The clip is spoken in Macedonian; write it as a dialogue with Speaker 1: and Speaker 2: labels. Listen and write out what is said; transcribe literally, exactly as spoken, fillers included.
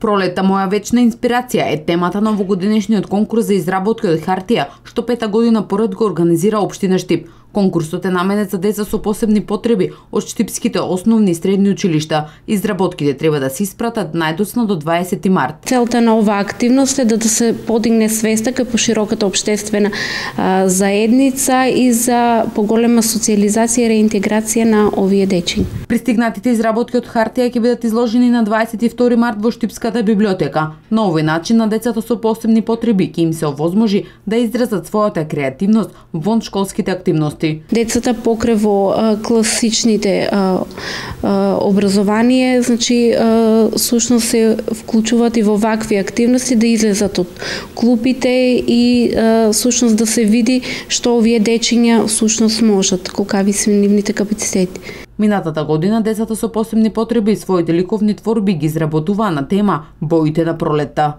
Speaker 1: Пролетта моја вечна инспирација е темата на овогодишниот конкурс за изработки од хартија, што пета година поред го организира општина Штип. Конкурсот е наменет за деца со посебни потреби од штипските основни и средни училишта. Изработките треба да се испратат најдоцна до дваесети март.
Speaker 2: Целта на оваа активност е да, да се подигне свеста кај пошироката општествена а, заедница и за поголема социализација и реинтеграција на овие дечиња.
Speaker 1: Пристигнатите изработки од хартија ќе бидат изложени на дваесет и втори март во Штипската библиотека. На овој начин на децата со посебни потреби ќе им се овозможи да изразат својата креативност вон школските активности.
Speaker 2: Децата покрај во а, класичните а, а, образование, значи а, сушност се вклучуваат и во вакви активности да излезат од клупите и а, сушност да се види што овие дечиња сушност можат, колкави се нивните капацитети.
Speaker 1: Минатата година децата со посебни потреби своите ликовни творби ги изработуваа на тема Боите на пролетта.